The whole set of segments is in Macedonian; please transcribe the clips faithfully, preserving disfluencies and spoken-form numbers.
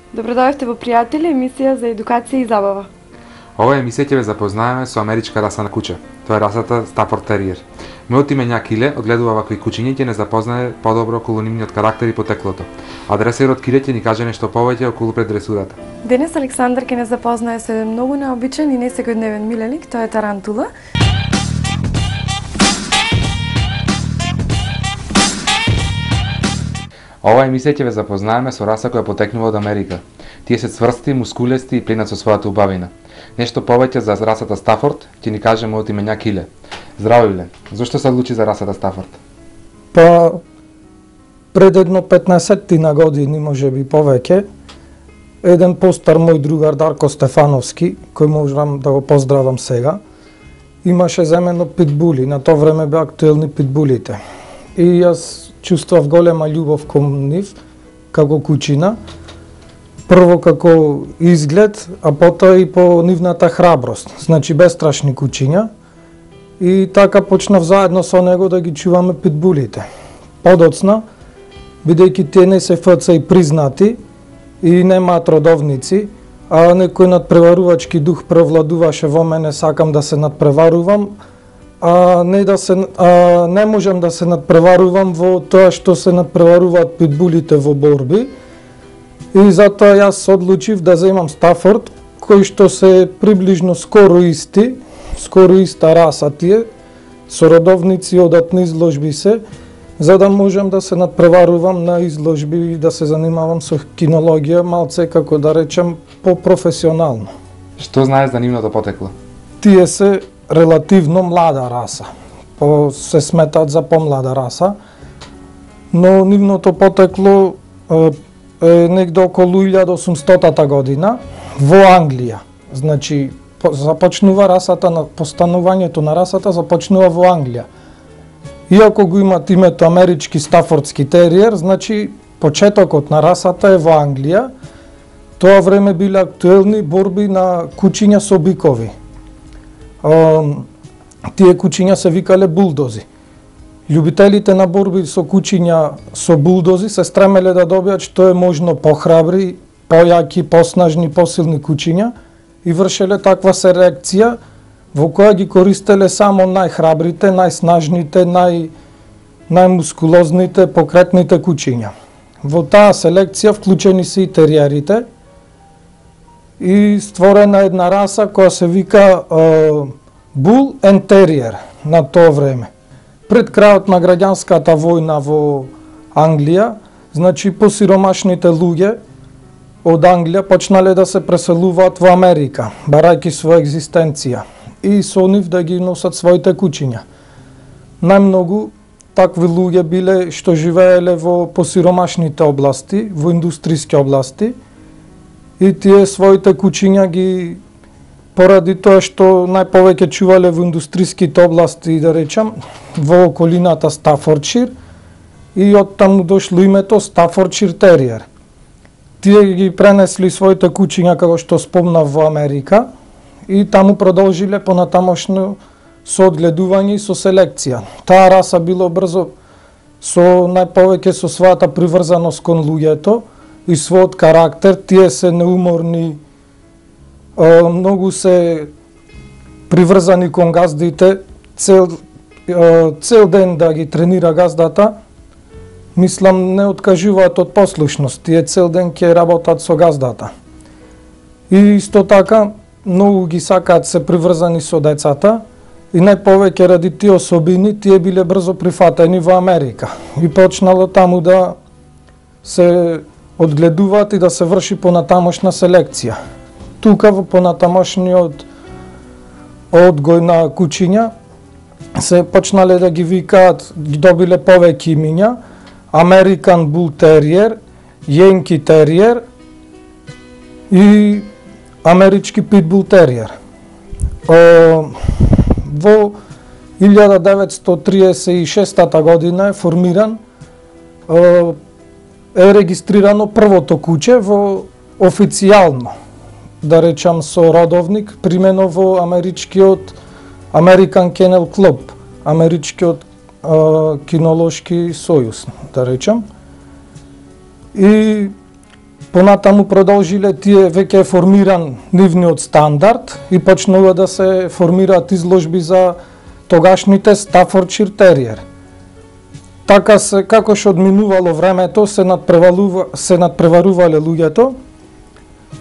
Добродојавте во Пријатели, емисија за едукација и забава. Ова емисија ќе ве запознаеме со америчка раса на куче. Тоа е расата Стафорд Териер. Мојот име Ња Киле одгледува вакви кучиња и ќе не запознае подобро околу нивниот карактер и потеклото. А дресерот Киле ќе ни каже нешто повеќе околу предресурата. Денес Александар ќе не запознае со еден многу необичен и несекојдневен миленик, тоа е тарантула. Ова емисија ќе ве запознаеме со раса која потекнува од Америка. Тие се цврсти, мускулести и пленат со својата убавина. Нешто повеќе за расата Стафорд ќе ни каже мојот име Ња Киле. Здраво, Иле. Зошто се одлучи за расата Стафорд? Па пред едно петнаесет на години, може би повеќе, еден постар мој другар Дарко Стефановски, кој можам да го поздравам сега, имаше земено питбули. На тоа време беа актуелни питбулите. И јас чувствував голема љубов кон нив како кучина. Прво како изглед, а потоа и по нивната храброст. Значи бестрашни кучиња. И така почнав заедно со него да ги чуваме питбулите. Подоцна, бидејќи тие не се еф це и признати и немаат родовници, а некој надпреварувачки дух превладуваше во мене, сакам да се надпреварувам, а не да се а, не можам да се надпреварувам во тоа што се надпреваруваат питбулите во борби. И затоа јас одлучив да земам Стафорд, кои што се приближно скоро исти, скоро иста раса тие, со родовници одат на изложби се, за да можам да се надпреварувам на изложби и да се занимавам со кинологија, малце како да речем по-професионално. Што знаеш за нивното потекло? Тие се релативно млада раса, по се сметат за помлада раса, но нивното потекло е, е негде околу илјада осумстотата година во Англија. Значи, започнува расата на постанувањето на расата започнува во Англија. Иако го имат името амерички стафордски териер, значи почетокот на расата е во Англија. Тоа време биле актуелни борби на кучиња со бикови. Тие кучиња се викале булдози. Љубителите на борби со кучиња со булдози се стремеле да добијат што е можно похрабри, појаки, поснажни, посилни кучиња и вршеле таква селекција во која ги користеле само најхрабрите, најснажните, нај најмускулозните, покретните кучиња. Во таа селекција вклучени се и териерите и створена една раса која се вика Bull and Terrier на тоа време. Пред крајот на граѓанската војна во Англија, значи посиромашните луѓе од Англија почнале да се преселуваат во Америка, барајќи своја екзистенција и со нив да ги носат своите кучиња. Најмногу такви луѓе биле што живееле во посиромашните области, во индустријски области, и тие своите кучиња ги поради тоа што најповеќе чувале во индустријските области, да речам, во околината Стафордшир, и оттаму дошло името Стафордшир Териер. Тие ги пренесли своите кучиња, како што спомнав, во Америка и таму продолжиле понатамошно со одгледување и со селекција. Таа раса било брзо со најповеќе со својата приврзаност кон луѓето и својот карактер. Тие се неуморни, многу се приврзани кон газдите, цел, цел ден да ги тренира газдата. Мислам, не откажуваат од послушност, тие цел ден ќе работат со газдата. И исто така, многу ги сакаат се приврзани со децата и најповеќе ради тие особини тие биле брзо прифатени во Америка и почнало таму да се одгледуваат и да се врши понатамошна селекција. Тука во понатамошниот одгој на кучиња се почнале да ги викаат, ги добиле повеќе имиња: American Bull Terrier, Yankee Terrier и амерички Pitbull Terrier. Во илјада деветстотини триесет и шеста година е формиран, е регистрирано првото куче во официјално, да речам со родовник, примено во америчкиот American Kennel Club, америчкиот кинолошки сојуз, да речам. И Понатаму продолжиле тие, веќе е формиран нивниот стандард и почнува да се формираат изложби за тогашните Стафордшир териер. Така се, како што одминувало времето, се надпреварува, се надпреварувале луѓето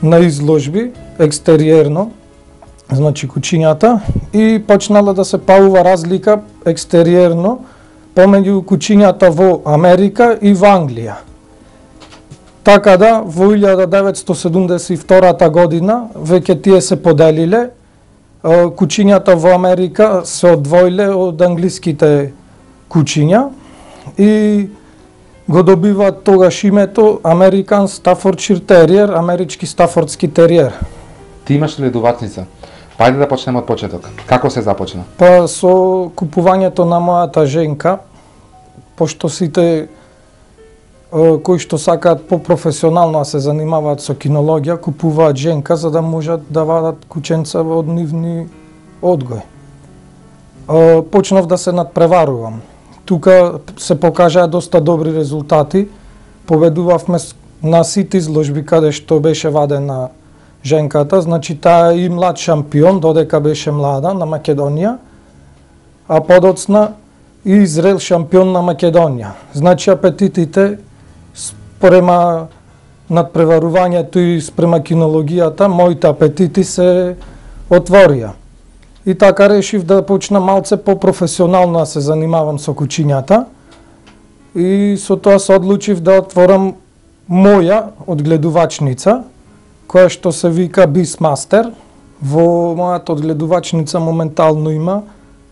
на изложби екстериерно, значи кучињата, и почнала да се правува разлика екстериерно помеѓу кучињата во Америка и во Англија. Така да, во илјада деветстотини седумдесет и втора година веќе тие се поделиле, кучињата во Америка се одвоиле од англиските кучиња и го добиваат тогаш името American Staffordshire Terrier, амерички стафордски териер. Ти имаш ли дувачница? Па ајде да почнеме од почеток. Како се започна? Па со купувањето на мојата женка, пошто сите кои што сакаат по-професионално да се занимаваат со кинологија, купуваат женка за да можат да вадат кученца од нивни одгој. Почнав да се надпреварувам. Тука се покажаа доста добри резултати. Победувавме на сите изложби каде што беше вадена женката, значи таа и млад шампион, додека беше млада на Македонија, а подоцна и зрел шампион на Македонија. Значи апетитите спрема надпреварувањето и спрема кинологијата, моите апетити се отворија. И така решив да почнам малце по-професионално да се занимавам со кучињата и со тоа се одлучив да отворам моја одгледувачница, која што се вика Beastmaster. Во мојата одгледувачница моментално има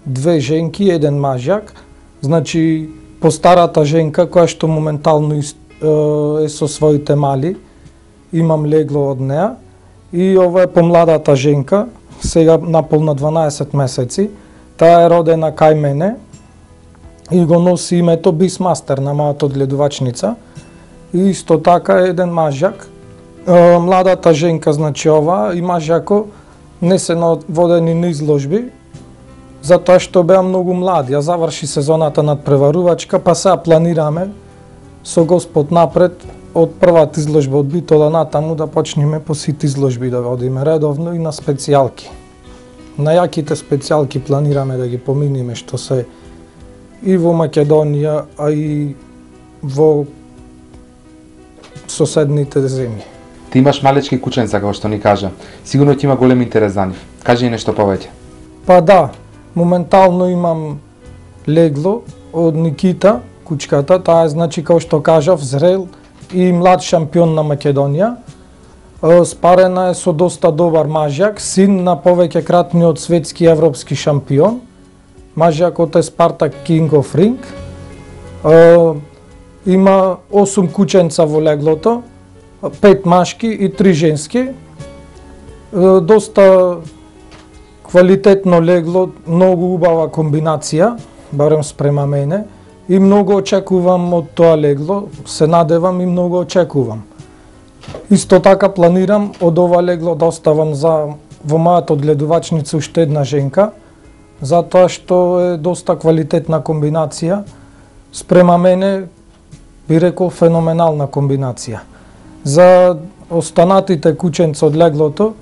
две женки и еден мажјак. Значи, по старата женка, која што моментално е со своите мали, имам легло од неа. И ова е помладата женка, сега наполна дванаесет месеци. Таа е родена кај мене и го носи името Beastmaster на мојата одгледувачница. И исто така е еден мажјак. Младата женка, значи ова, и мажјако не се водени на изложби, затоа што беа многу млади. Ја заврши сезоната надпреварувачка, па сега планираме со Господ напред од првата изложба од Битола натаму да почнеме по сите изложби да водиме редовно и на специјалки. На јаките специјалки планираме да ги поминиме што се и во Македонија, а и во соседните земји. Ти имаш малечки кученца, како што ни кажа. Сигурно ќе има голем интерес за нив. Кажи ни нешто повеќе. Па да, моментално имам легло од Никита, кучката. Таа е, значи, како што кажав, зрел и млад шампион на Македонија. Спарена е со доста добар мажјак, син на повеќе кратниот светски и европски шампион. Мажјакот е Спартак King of Ring. Има осум кученца во леглото, пет машки и три женски. Доста квалитетно легло, многу убава комбинација, барем спрема мене, и многу очекувам од тоа легло, се надевам и многу очекувам. Исто така планирам од ова легло да оставам за во мојата одгледувачница уште една женка, затоа што е доста квалитетна комбинација, спрема мене би рекол феноменална комбинација. За останатите кученца од леглото,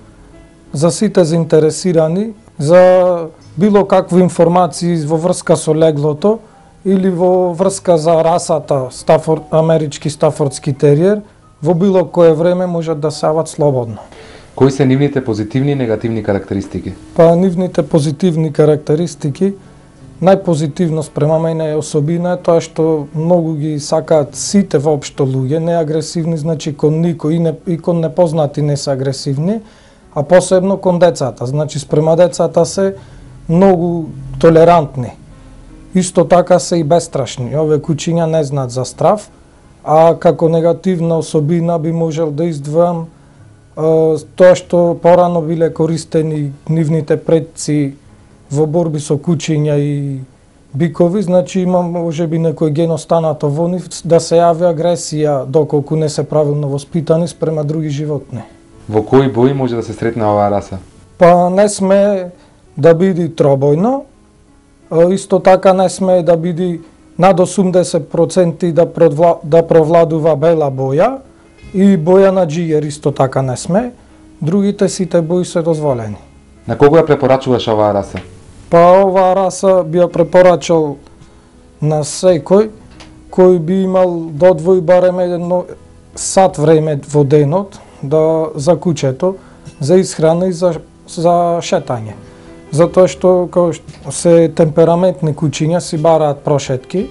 за сите заинтересирани, за било какви информации во врска со леглото или во врска за расата Стафорд, амерички стафордски териер, во било кое време можат да се јават слободно. Кои се нивните позитивни и негативни карактеристики? Па нивните позитивни карактеристики, најпозитивно спрема мене е особина е тоа што многу ги сакаат сите воопшто луѓе, не агресивни, значи кон никој и, не, и кон непознати не се агресивни, а посебно кон децата, значи спрема децата се многу толерантни. Исто така се и бестрашни, овие кучиња не знаат за страв, а како негативна особина би можел да издвојам тоа што порано биле користени нивните предци во борби со кучиња и бикови, значи има можеби некој ген останато во нив да се јави агресија доколку не се правилно воспитани спрема други животни. Во кои бои може да се сретне оваа раса? Па не сме да биде тробојно, исто така не сме да биде над осумдесет проценти да, провла, да провладува бела боја И боја на џигер исто така не сме, другите сите бои се дозволени. На кого ја препорачуваш оваа раса? Па оваа раса би ја препорачал на секој кој би имал да одвои барем едно сат време во денот да за куќето, за исхрана и за, за шетање. Затоа што као што се темпераментни куќиња си бараат прошетки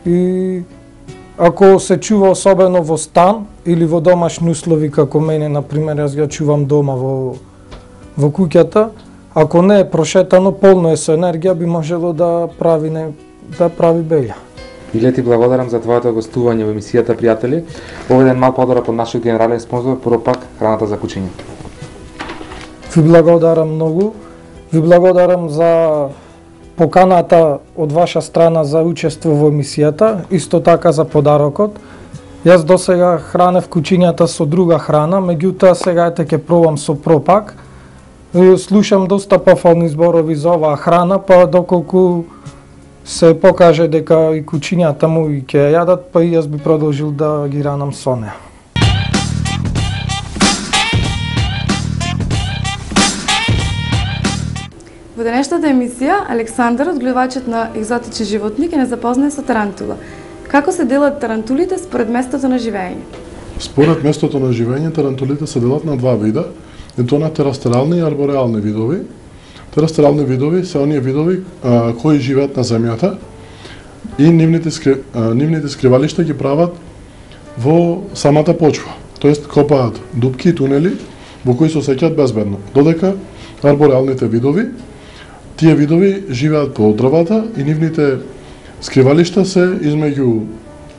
и ако се чува особено во стан или во домашни услови како мене, например, јас ја чувам дома во во куќата, ако не е прошетано, полно е со енергија, би можело да прави не да прави белја. Иле ти благодарам за твоето гостување во емисијата, пријатели. Овој ден мал подарок од нашиот генерален спонзор, Пропак, храната за куќиња. Ви благодарам многу. Ви благодарам за поканата од ваша страна за учество во емисијата, исто така за подарокот. Јас досега хранев куќињата со друга храна, меѓутоа сега ете ќе пробам со Пропак. Слушам доста пофални зборови за оваа храна, па доколку се покаже дека и куќињата му и ќе јадат, па и јас би продолжил да ги ранам со неа. Во денешната емисија, Александар, одгледувачот на екзотични животни, ќе не запознае со тарантула. Како се делат тарантулите според местото на живење? Според местото на живење, тарантулите се делат на два вида, и тоа на терастерални и арбореални видови. Терастерални видови се оние видови а, кои живеат на земјата и нивните, скри, а, нивните скривалишта ги прават во самата почва, тоест копаат дупки и тунели во кои се осеќаат безбедно. Додека арбореалните видови, тие видови живеат по дрвата и нивните скривалишта се измеѓу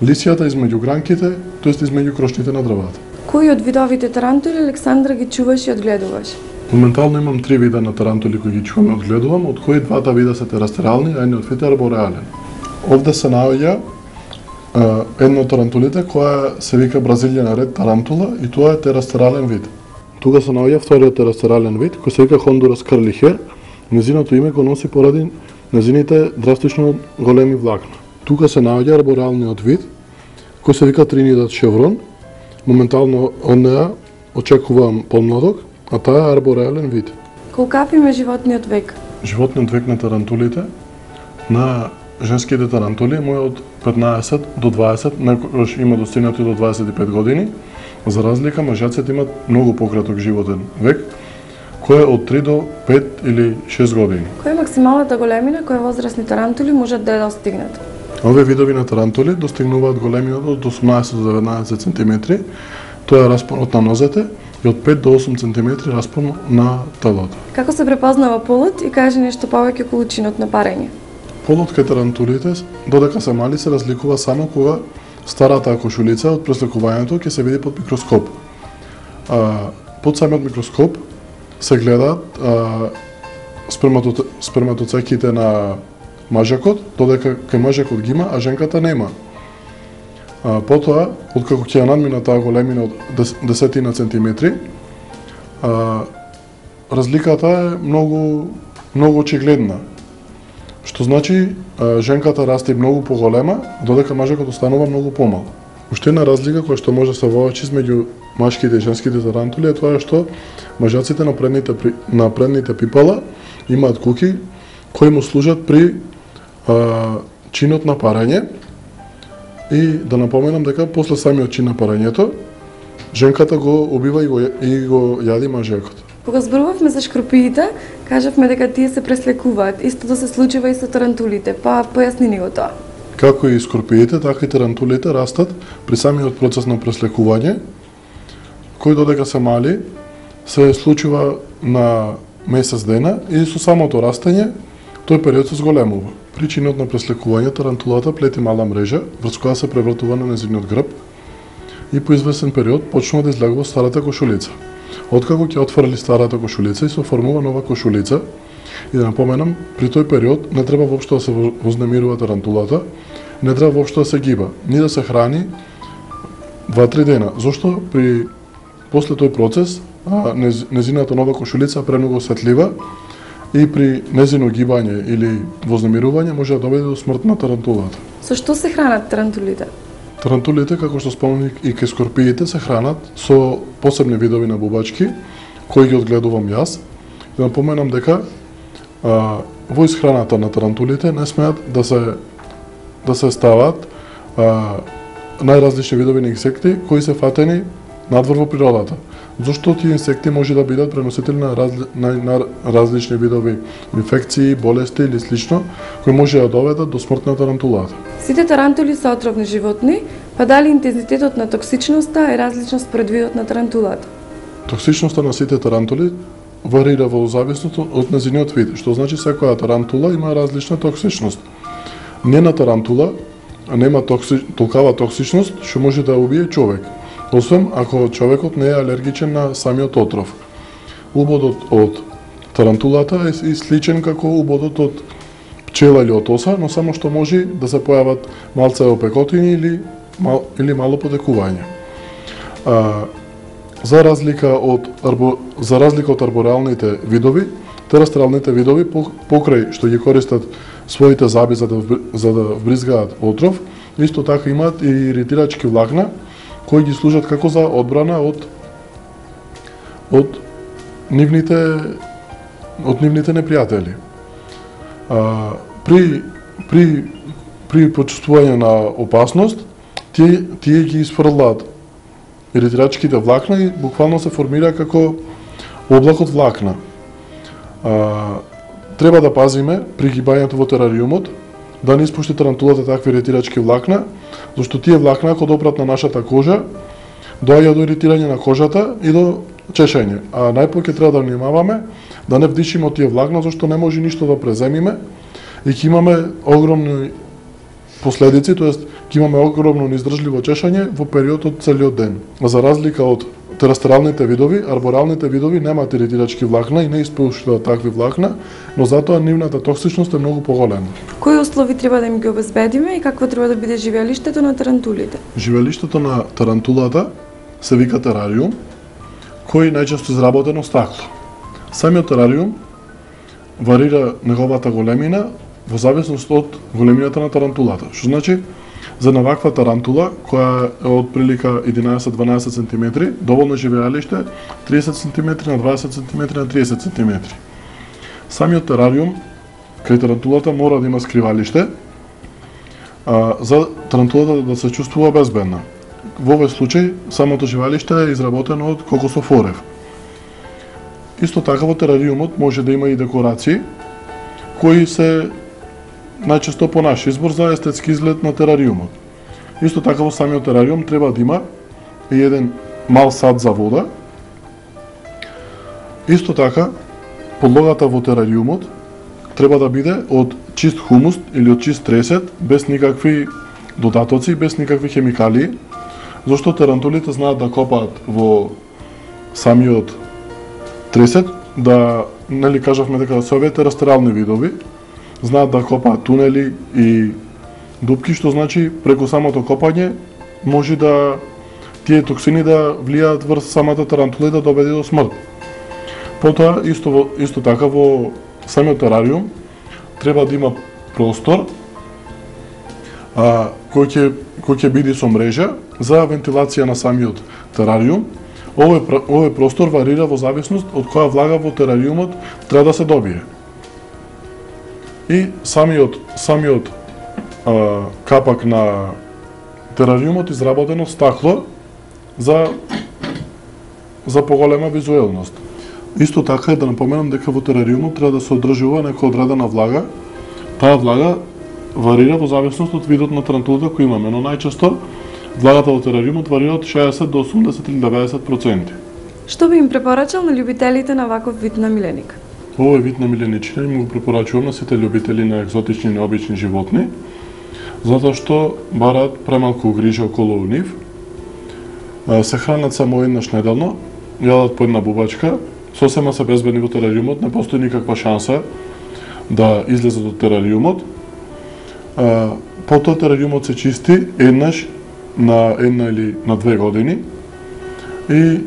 лисијата, измеѓу гранките, тоест измеѓу крошните на дрвата. Кои од видовите тарантули, Александра, ги чуваш и одгледуваш? Моментално имам три вида на тарантули кои ги чувам и одгледувам, од кои двата вида се терастерални, а едниот вид е арбореален. Овде се наоѓа едно од тарантулите која се вика Бразилијан ред тарантула и тоа е терастерален вид. Тука се наоѓа вториот терастерален вид кој се вика Хондурас крлихер. Незиното име го носи поради незините драстично големи влакна. Тука се наоѓа арбореалниот вид кој се вика Тринидад шеврон. Моментално од неа очекувам помладок, а таа е арбореален вид. Колкав им е животниот век? Животниот век на тарантулите, на женските тарантули му е од петнаесет до дваесет, некојаш има достигнати до дваесет и пет години. За разлика, мажаците имат многу пократок животен век, кој е од три до пет или шест години. Која е максималната големина која возрастни тарантули можат да ја достигнат? Овие видови на тарантули достигнуваат големина од осумнаесет до деветнаесет сантиметри, тоа е распонот на нозете, и од пет до осум сантиметри распон на телото. Како се препознава полот и каже нешто повеќе околу чинот на парење? Полот кај тарантулите, додека се мали, се разликува само кога старата кошулица од преслекувањето ќе се види под микроскоп. А, под самиот микроскоп се гледаат сперматоцеките на мажакот, додека кај мажакот ги има, а женката нема. А, потоа, откако ќе ја надмина таа големина од десетина сантиметри, а, разликата е многу многу очигледна. Што значи а, женката расте многу поголема, додека мажакот останува многу помал. Уште една разлика која што може да се воочи измеѓу машките и женските тарантули е тоа што мажаците на предните на предните пипала имаат куки кои му служат при а, чинот на парење. И да напоменам дека после самиот чин на парењето, женката го убива и го, и го јади мажакот. Кога зборувавме за шкорпиите, кажавме дека тие се преслекуваат. Истото се случува и со тарантулите, па појасни ни го тоа. Како и скорпиите, така и тарантулите растат при самиот процес на преслекување, кој додека се мали, се случува на месец дена и со самото растење, тој период се зголемува. При чинот на преслекување, тарантулата плети мала мрежа, врз која се превртува на незиниот грб и по известен период почнува да излегува старата кошулица. Откако ќе отфрли старата кошулица и се оформува нова кошулица, и да напоменам, при тој период не треба воопшто да се вознемирува тарантулата, не треба воопшто да се гиба, ни да се храни два-три дена. Зошто при после тој процес а, нез, незината нова кошулица премногу осветлива и при незино гибање или вознемирување може да доведе до смрт на тарантулата. Со што се хранат тарантулите? Тарантулите, како што спомнав и ке скорпиите, се хранат со посебни видови на бубачки, кои ги одгледувам јас. Да напоменам дека а, во исхраната на тарантулите не смеат да се да се стават а, најразлични видови на инсекти кои се фатени надвор во природата. Зошто тие инсекти може да бидат преносители на, разли, на, на различни видови инфекции, болести или слично, кои може да доведат до смрт на тарантулата. Сите тарантули се отровни животни, па дали интензитетот на токсичноста е различна според видот на тарантулата? Токсичноста на сите тарантули варира во зависност од незиниот вид, што значи секоја тарантула има различна токсичност. Нена тарантула нема токси, толкава токсичност што може да убие човек, освен ако човекот не е алергичен на самиот отров. Убодот од тарантулата е сличен како убодот од пчела или од оса, но само што може да се појават малце опекотини или, мал, или мало потекување. А, за разлика од арбо, за разлика од арбореалните видови, терастралните видови покрај што ги користат своите заби за да за да вбризгаат отров, исто така имаат и иритирачки влакна кои ги служат како за одбрана од од нивните од нивните непријатели. А, при при при почувствување на опасност, тие тие ги изфрлаат иритирачките влакна и буквално се формира како облак од влакна. А, треба да пазиме при гибањето во терариумот да не испушти тарантулата такви иритирачки влакна, зашто тие влакна ако допрат на нашата кожа, доаѓа до иритирање на кожата и до чешење. А најпоќе треба да внимаваме да не вдишиме од тие влакна, зашто не може ништо да преземиме и ќе имаме огромни последици, тоест ќе имаме огромно неиздржливо чешање во период од целиот ден. За разлика од терастралните видови, арборалните видови немаат иритирачки влакна и не испуштаат такви влакна, но затоа нивната токсичност е многу поголема. Кои услови треба да им ги обезбедиме и какво треба да биде живеелиштето на тарантулите? Живеелиштето на тарантулата се вика терариум, кој најчесто изработено стакло. Самиот терариум варира неговата големина во зависност од големината на тарантулата. Што значи, за една ваква тарантула, која е од прилика единаесет до дванаесет сантиметри, доволно живеалиште тридесет сантиметри на дваесет сантиметри на тридесет сантиметри. Самиот терариум кај тарантулата мора да има скривалиште, а, за тарантулата да се чувствува безбедна. Во овој случај, самото живеалиште е изработено од кокосов орев. Исто така во терариумот може да има и декорации, кои се најчесто по наш избор за естетски изглед на терариумот. Исто така во самиот терариум треба да има и еден мал сад за вода. Исто така, подлогата во терариумот треба да биде од чист хумус или од чист тресет, без никакви додатоци, без никакви хемикалии, зашто тарантулите знаат да копаат во самиот тресет, да, нели кажавме дека се овие терастрални видови, знаат да копаат тунели и дупки, што значи преку самото копање може да тие токсини да влијаат врз самата тарантула и да доведе до смрт. Потоа, исто, исто така во самиот терариум треба да има простор а, кој ќе кој ќе биде со мрежа за вентилација на самиот терариум. Овој, овој простор варира во зависност од која влага во терариумот треба да се добие. И самиот самиот а, капак на терариумот изработено стакло за за поголема визуелност. Исто така е да напоменам дека во терариумот треба да се одржува некоја одредена влага. Таа влага варира во зависност од видот на тарантулата кој имаме, но најчесто влагата во терариумот варира од шеесет до осумдесет или деветдесет проценти. Што би им препорачал на љубителите на ваков вид на миленик? Овој вид на миленичина им го препорачувам на сите љубители на екзотични и необични животни, затоа што бараат премалку грижа околу нив, се хранат само еднаш неделно, јадат по една бубачка, сосема се безбедни во терариумот, не постои никаква шанса да излезат од терариумот. Потоа терариумот се чисти еднаш на една или на две години и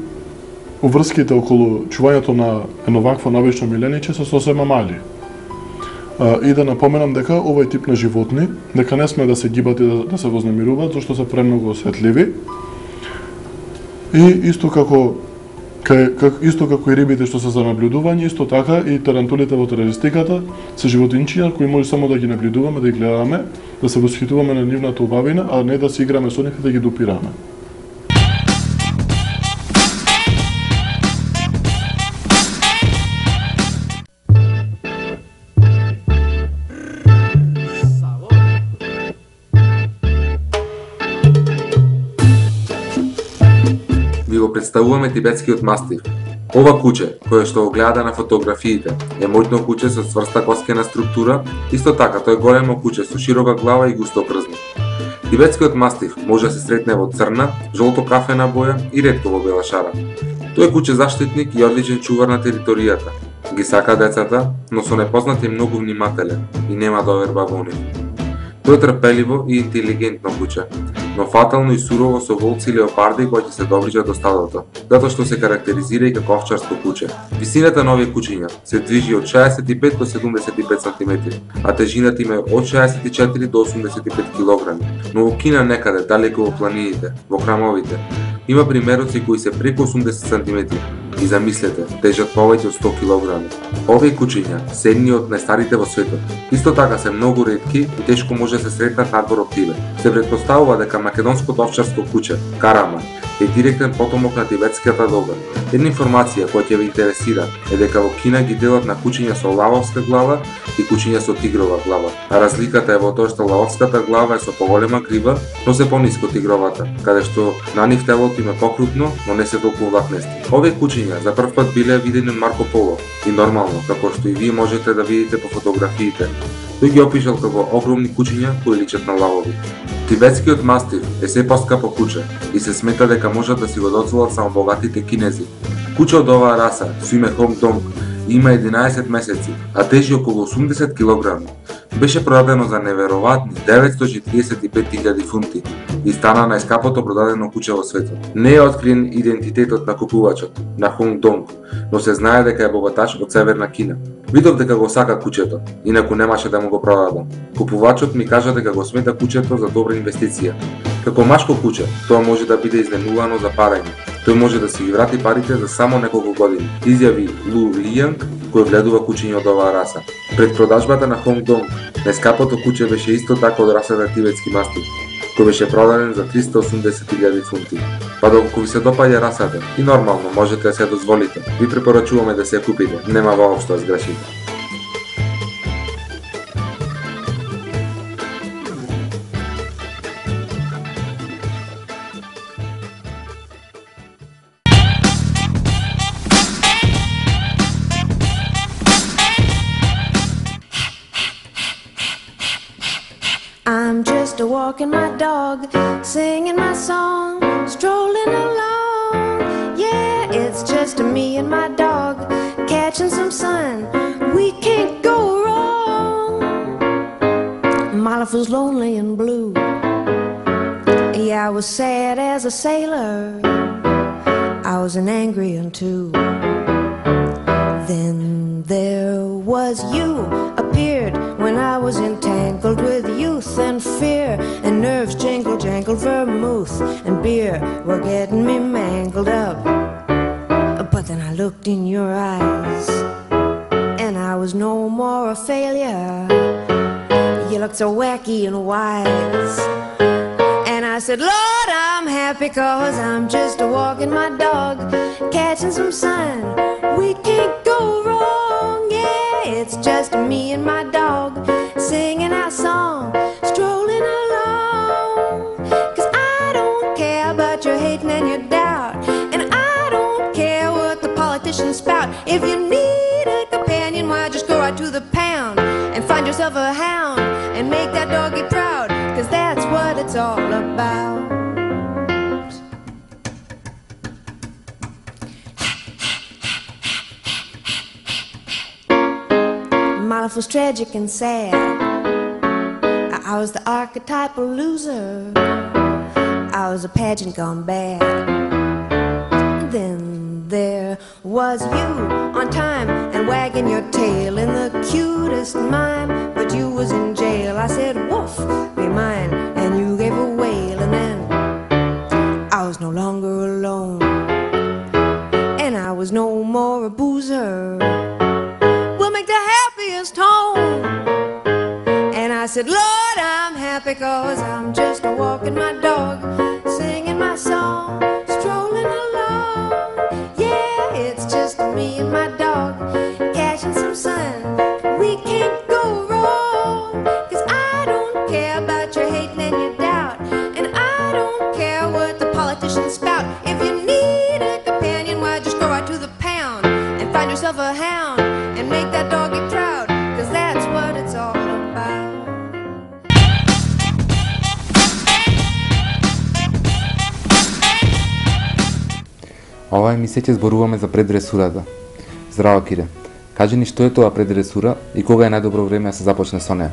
уврските околу чувањето на едно вакво навечно милениче се сосема мали. А, и да напоменам дека овој тип на животни, дека не сме да се гибат и да, да се вознемируваат, зашто се премногу осетливи. И исто како кај, как, исто како и рибите што се за наблюдување, исто така и тарантулите во терористиката се животинчиња кои може само да ги наблюдуваме, да ги гледаме, да се восхитуваме на нивната убавина, а не да се играме со нив и да ги допираме. Ви го представуваме тибетскиот мастиф. Ова куче, кое што го гледа на фотографиите, е моќно куче со цврста коскена структура, исто така тој големо куче со широка глава и густо крзно. Тибетскиот мастиф може да се сретне во црна, жолто-кафена боја и ретко во бела шара. Тој е куче заштитник и одличен чувар на територијата. Ги сака децата, но со непознат е многу внимателен и нема доверба во нив. Тој е трпеливо и интелигентно куче, но фатално и сурово со волци и леопарди кои ќе се доближат до стадото, затоа што се карактеризира и како овчарско куче. Висината на овие кучиња се движи од шеесет и пет до седумдесет и пет сантиметри, а тежината им е од шеесет и четири до осумдесет и пет килограми. Но во Кина некаде, далеко во планините, во храмовите, има примероци кои се преку осумдесет сантиметри. И замислете, тежат повеќе од сто килограми. Овие кучиња се едни од најстарите во светот. Исто така се многу ретки и тешко може да се сретнат надвор од Тибет. Се претпоставува дека македонското овчарско куче, Карама, е директен потомок на тибетската дога. Една информација која ќе ве интересира е дека во Кина ги делат на кучиња со лавовска глава и кучиња со тигрова глава. А разликата е во тоа што лавовската глава е со поголема грива, но се пониско тигровата, каде што на нив телото им е покрупно, но не се толку влакнести. Овие кучиња за прв пат биле видени од Марко Поло и нормално, како што и вие можете да видите по фотографиите. Тој ги опишал како огромни кучиња кои личат на лавови. Тибетскиот мастиф е се поскапо куче и се смета дека можат да си го доцелат само богатите кинези. Куче од оваа раса, со име Хонг Донг, има единаесет месеци, а тежи околу осумдесет килограми. Беше продадено за неверојатни деветстотини и триесет и пет илјади фунти и стана најскапото продадено куче во светот. Не е откриен идентитетот на купувачот, на Хонг Донг, но се знае дека е богаташ од Северна Кина. Видов дека го сака кучето, инаку немаше да му го продадам. Купувачот ми кажа дека го смета кучето за добра инвестиција. Како машко куче, тоа може да биде изнемувано за парење. Тој може да си ги врати парите за само неколку години, изјави Лу Лијанг, кој гледува кучиња од оваа раса. Пред продажбата на Хонг Донг, најскапото куче беше исто така од расата тибетски мастиф, кој беше продаден за триста и осумдесет илјади фунти. Па доколку ви се допаѓа расата и нормално можете да се дозволите, ви препорачуваме да се ја купите, нема воопшто да сгрешите. I'm just a walking my dog, singing my song, strolling along. Yeah, it's just me and my dog, catching some sun. We can't go wrong. My life was lonely and blue. Yeah, I was sad as a sailor. I was an angry one too. Then there was you, appeared when I was entangled with youth and fear, and nerves jingle jangled, vermouth and beer were getting me mangled up. But then I looked in your eyes, and I was no more a failure. You looked so wacky and wise, and I said, Lord, I'm happy 'cause I'm just a walking my dog, catching some sun. We can't go wrong, yeah, it's just me and my dog, singing our song, strolling along. 'Cause I don't care about your hating and your doubt, and I don't care what the politicians spout. If you need a companion, why just go right to the pound and find yourself a hound and make that doggy proud, 'cause that's what it's all about. My life was tragic and sad. I was the archetypal loser. I was a pageant gone bad. Then there was you, on time and wagging your tail in the cutest mime, but you was in jail. I said, woof, be mine, and you gave a wail, and then I was no longer alone, and I was no more a boozer. We'll make the happiest home. And I said, Lord, I'm happy 'cause I'm just walking my dog, singing my song, strolling along. Yeah, it's just me and my dog, catching some sun. We can't go wrong, 'cause I don't care about your hating and your doubt, and I don't care what the politicians spout. If you need a companion, why just go right to the pound and find yourself a hound and make that doggy proud, 'cause that's what it's all about. Ова емисија ќе зборуваме за предресурата. Здраво, Кире. Кажи ни што е тоа предресура и кога е најдобро време да се започне со неа?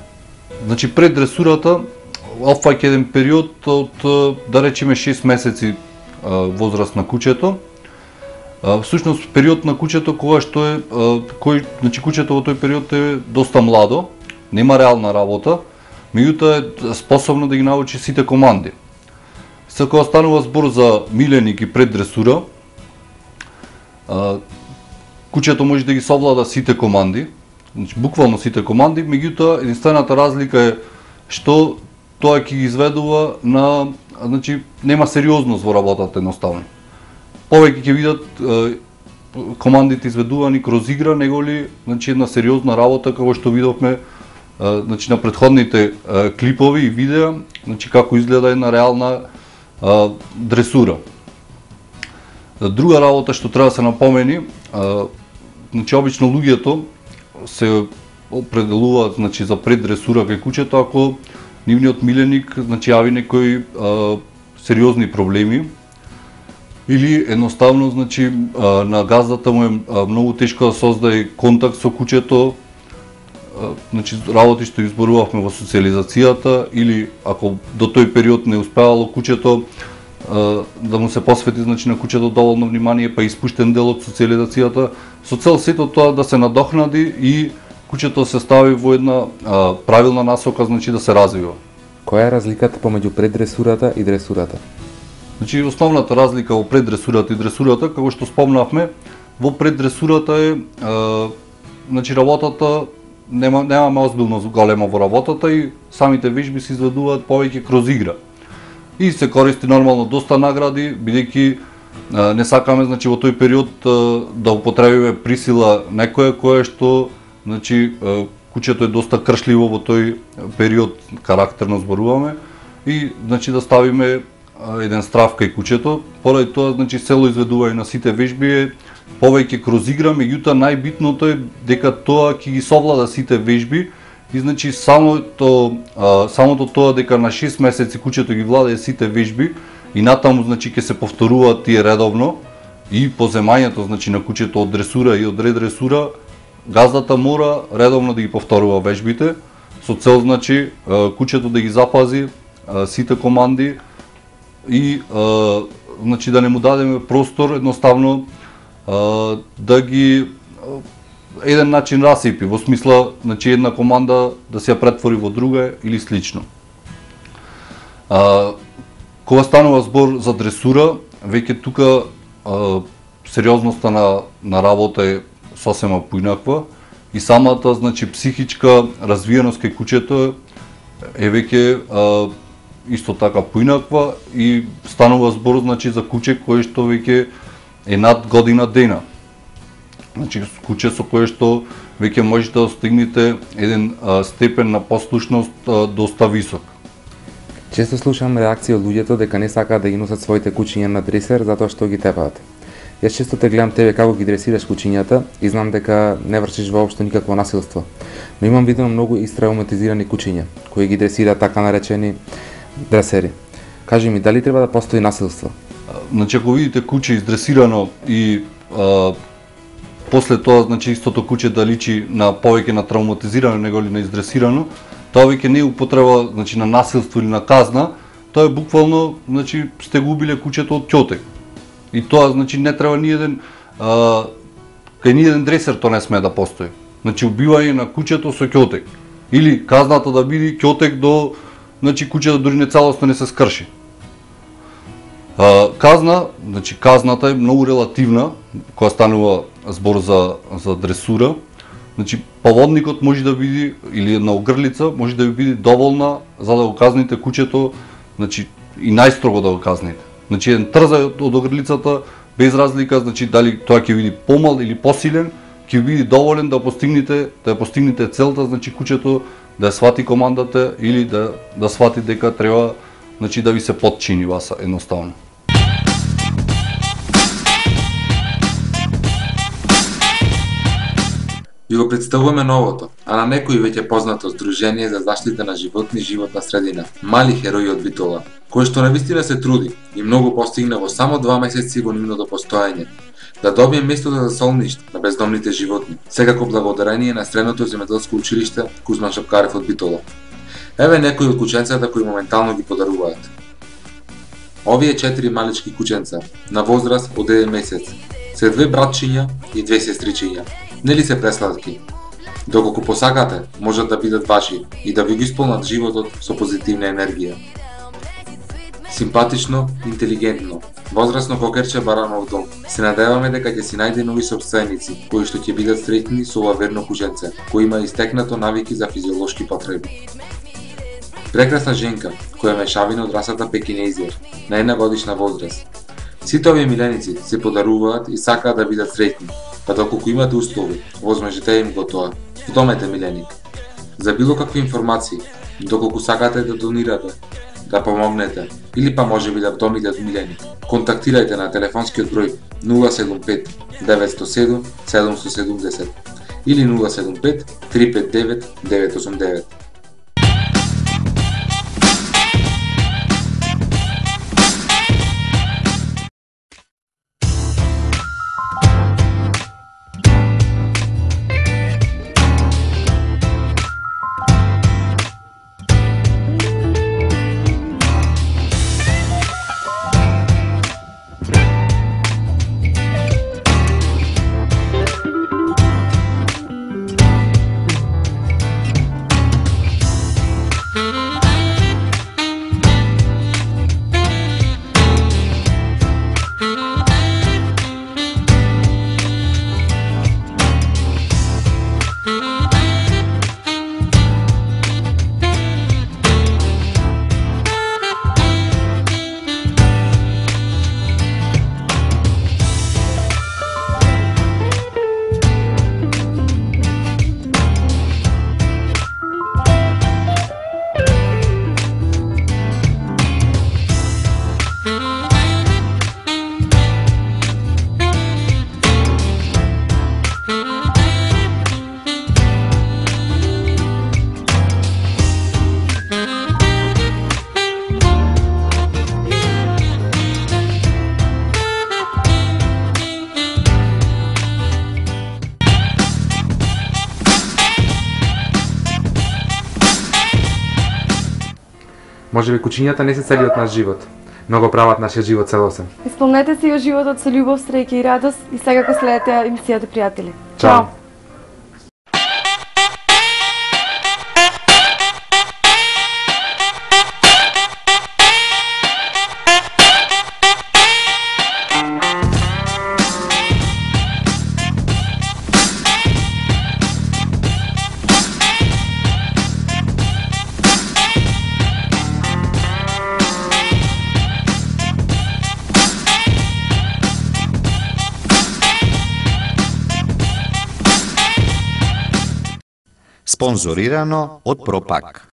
Значи предресурата опфаќа еден период од, да речеме, шест месеци возраст на кучето. Всушност период на кучето кога што е кој значи кучето во тој период е доста младо, нема реална работа, меѓутоа е способно да ги научи сите команди. Се кога станува збор за миленик и предресура, кучето може да ги совлада сите команди, значи буквално сите команди, меѓутоа единствената разлика е што тоа ќе ги изведува на, значи нема сериозност во работата едноставно. Повеќе ќе видат е, командите изведувани кроз игра, него ли значи една сериозна работа како што видовме е, значи на претходните е, клипови и видеа, значи како изгледа една реална е, дресура. Друга работа што треба да се напомени, е, значи обично луѓето се определуваат значи за предресура кај кучето ако нивниот миленик значи јави некои е, сериозни проблеми, или едноставно значи на газдата му е многу тешко да создаде контакт со кучето, значи работи што изборувавме во социализацијата, или ако до тој период не успеало кучето да му се посвети значи на кучето доволно внимание, па испуштен дел од социализацијата, со цел сето тоа да се надохнади и кучето се стави во една а, правилна насока, значи да се развива. Која е разликата помеѓу предресурата и дресурата? Значи основната разлика во предресурата и дресурата, како што спомнавме, во предресурата е, е значи работата нема немаме озбилно голема во работата и самите вежби се изведуваат повеќе кроз игра. И се користи нормално доста награди, бидејќи не сакаме значи во тој период да употребиме присила некоја која што значи кучето е доста кршливо во тој период, карактерно зборуваме, и значи да ставиме еден страв кај кучето. Поради тоа значи цело изведување на сите вежби е повеќе кроз игра, меѓутоа најбитното е дека тоа ќе ги совлада сите вежби и значи самото а, самото тоа дека на шест месеци кучето ги владее сите вежби и натаму значи ќе се повторуваат тие редовно и по земањето значи на кучето од дресура и од редресура, газдата мора редовно да ги повторува вежбите со цел значи кучето да ги запази сите команди и а, значи да не му дадеме простор едноставно а, да ги а, еден начин расипи, во смисла значи една команда да се ја претвори во друга или слично. А, кога станува збор за дресура, веќе тука а, сериозноста на, на работа е сосема поинаква и самата значи психичка развиеност кај кучето е веќе а, исто така поинаква и станува збор значи за куче кое што веќе е над година дена. Значи куче со кое што веќе можете да стигнете еден а, степен на послушност а, доста висок. Често слушам реакции од луѓето дека не сакаат да ги носат своите кучиња на дресер затоа што ги тепаат. Јас често те гледам тебе како ги дресираш кучињата и знам дека не вршиш воопшто никакво насилство. Но имам видено многу истравматизирани кучиња кои ги дресираат така наречени дресери. Кажи ми, дали треба да постои насилство? Значи ако видите куче издресирано и а, после тоа значи истото куче да личи на повеќе на травматизирано него ли на издресирано, тоа веќе не е употреба значи на насилство или на казна, тоа е буквално значи сте го убиле кучето од ќотек. И тоа значи не треба ни еден а, кај ни еден дресер тоа не смее да постои. значи убивање на куќето со ќотек или казната да биде ќотек до, значи куќето дури не целосно не се скрши. А, казна, значи казната е многу релативна кога станува збор за за дресура. Значи поводникот може да биде или една огрлица може да биде доволна за да го казните куќето, значи и најстрого да го казните. Значи еден трзај од огрлицата без разлика, значи дали тоа ќе биде помал или посилен, ќе биде доволен да постигнете, да постигнете целта, значи куќето да ја свати командата или да да свати дека треба, значи да ви се подчини вас едноставно. Ви го представуваме новото, а на некои веќе познато Сдружение за заштита на животни и животна средина, Мали херои од Битола, кој што навистина се труди и многу постигна во само два месеци во нивното постоење, да добие местото за солниште на бездомните животни, секако благодарение на Средното земјоделско училиште Кузман Шапкарев од Битола. Еве некои од кученцата кои моментално ги подаруваат. Овие четири малички кученца, на возраст од еден месец, се две братчиња и две сестричиња. Нели се пресладки? Доколку посакате, можат да бидат ваши и да ви ги исполнат животот со позитивна енергија. Симпатично, интелигентно, возрасно кокерче баранов дом. Се надеваме дека ќе си најде нови собственици, кои што ќе бидат среќни со ова верно кученце, кој има истекнато навики за физиолошки потреби. Прекрасна женка, која е мешавина од расата пекинезиер, на една годишна возраст. Сите овие миленици се подаруваат и сакаат да бидат среќни, па доколку имате услови, возможете им го тоа. Вдомете миленик. За било какви информации, доколку сакате да донирате, да помогнете, или па можеби да вдомите миленик, контактирајте на телефонскиот број нула седум пет девет зет седум седум седум седум или нула седум пет три пет девет девет осум девет. Можеби кучињата не се целиот наш живот, но го прават нашиот живот целосен. Исполнете си ја животот со љубов, среќа и радост и секако следете емисијата пријатели. Чао! Спонзорирано од Пропак.